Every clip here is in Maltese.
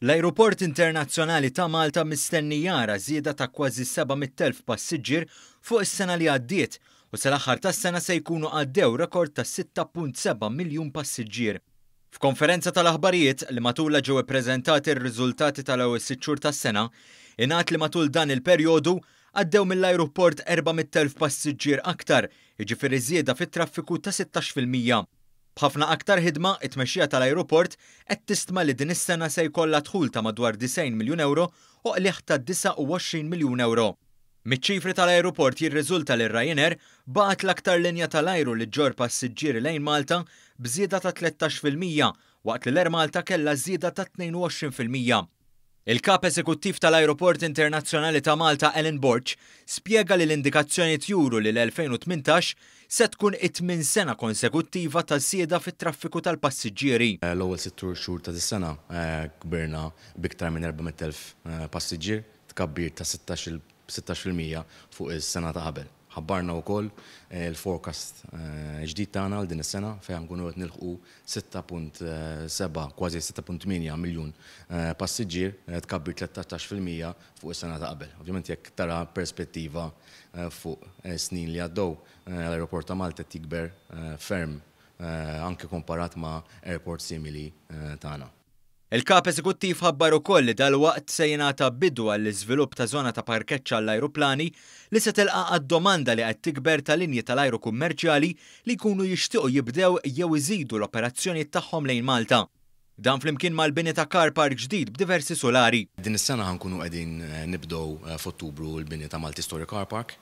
L-Ajruport Internazzjonali ta' Malta mistenni jara żieda ta' kważi 700,000 passiġġier fuq is-sena li għaddiet u sal-aħħar tas-sena se jkunu għaddew rekord ta' 6.7 miljun passiġġier. F'konferenza tal-aħbarijiet li matulha ġew ippreżentati r-riżultati tal-ewwel sitt xhur tas-sena, ingħad li matul dan il-perjodu għaddew mill-ajruport 400,000 passiġġier aktar, jiġifieri żieda fit-traffiku ta' 16%. B'ħafna aktar ħidma, it-tmexxija tal-ajruport qed tistma li din is-sena se jkollha dħul ta' madwar 90 miljun ewro u qligħ ta' 29 miljun ewro. Miċ-ċifri tal-ajruport jirriżulta li r-Ryanair baqgħet l-aktar linja tal-ajru li ġġorr passiġġieri lejn Malta b'żieda ta' 13% waqt li l-Air Malta kellha żieda ta' 22%. Il-Kap Eżekuttiv tal-Ajruport Internazzjonali ta' Malta Alan Borg spjega li l-indikazzjonijiet juru li l-2018 se tkun it-tmien sena konsekuttiva ta' żieda fit-traffiku tal-passiġġieri. L-ewwel sitt xhur ta' dis-sena kbirna b'iktar minn 400,000 passiġġier, tkabbir ta' 16% fuq is-sena ta' qabel. Ħabbarna wkoll il-forecast ġdid tagħna għal din is-sena fejn nkunu qed nilħqu 6.7, kważi 6.8 miljun passiġġier, tkabbir 13% fuq is-sena ta' qabel. Ovvjament jekk tara perspettiva fuq snin li għaddew, l-Ajruport ta' Malta qed jikber ferm anke komparat ma' airport simili tagħna. Il-Kap Eżekuttiv ħabbar ukoll li dalwaqt se jingħata bidu għall-iżvilupp ta' żona ta' parkeġġ għall-ajruplani li se tilqa' għad-domanda li qed tikber ta' linji tal-ajru kummerċjali li jkunu jixtiequ jibdew jew iżidu l-operazzjonijiet tagħhom lejn Malta. Dan flimkien mal-bini ta' car park ġdid b'diversi sulari. Din is-sena ħa nkunu qegħdin nibdew f'Ottubru l-bini ta' Multi-Story Car Park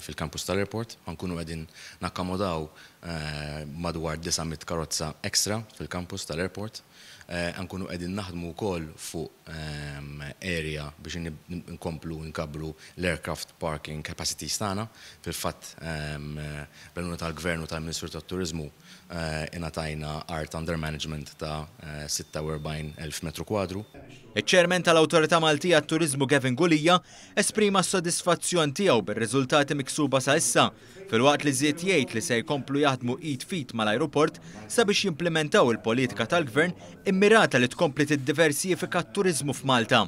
fil-campus tal-airport. Ħa nkunu qegħdin nakkomodaw madwar 900 karozza extra fil-campus tal-airport. Ħa nkunu qegħdin naħdmu wkoll fuq area biex nkomplu nkabbru l-aircraft parking capacities tagħna. Fil-fatt, bl-għajnuna tal-Gvern u tal-Ministru tat-Turiżmu, ingħatajna art under management ta' 46,000 metru kwadru. Iċ-Chairman tal-Awtorità Maltija għat-Turiżmu Gavin Gulia esprima s-sodisfazzjon tiegħu bir-riżultati miksuba sa issa, filwaqt li żied jgħid li se jkomplu jaħdmu id f'id mal-ajruport sabiex jimplementaw il-politika tal-Gvern immirata li tkompli tiddiversifika t-turiżmu f'Malta.